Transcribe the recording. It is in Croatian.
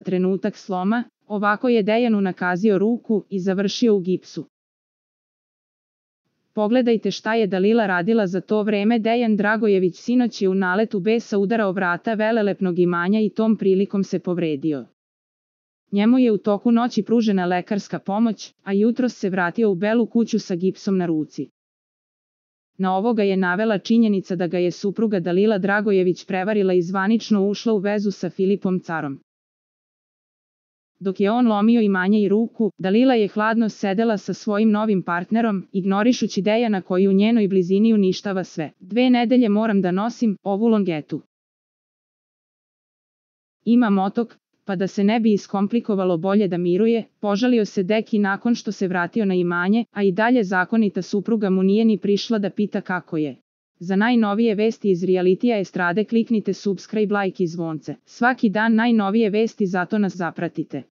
trenutak sloma, ovako je Dejanu nakazio ruku i završio u gipsu. Pogledajte šta je Dalila radila za to vreme. Dejan Dragojević sinoć je u naletu besa udarao vrata velelepnog imanja i tom prilikom se povredio. Njemu je u toku noći pružena lekarska pomoć, a jutros se vratio u Belu kuću sa gipsom na ruci. Na ovo ga je navela činjenica da ga je supruga Dalila Dragojević prevarila i zvanično ušla u vezu sa Filipom Carom. Dok je on lomio imanje i ruku, Dalila je hladno sedela sa svojim novim partnerom, ignorišući Dejana koji u njenoj blizini uništava sve. 2 nedelje moram da nosim ovu longetu. Ima otok, pa da se ne bi iskomplikovalo bolje da miruje, požalio se Deki nakon što se vratio na imanje, a i dalje zakonita supruga mu nije ni prišla da pita kako je. Za najnovije vesti iz realitija estrade kliknite subscribe, like i zvonce. Svaki dan najnovije vesti, zato nas zapratite.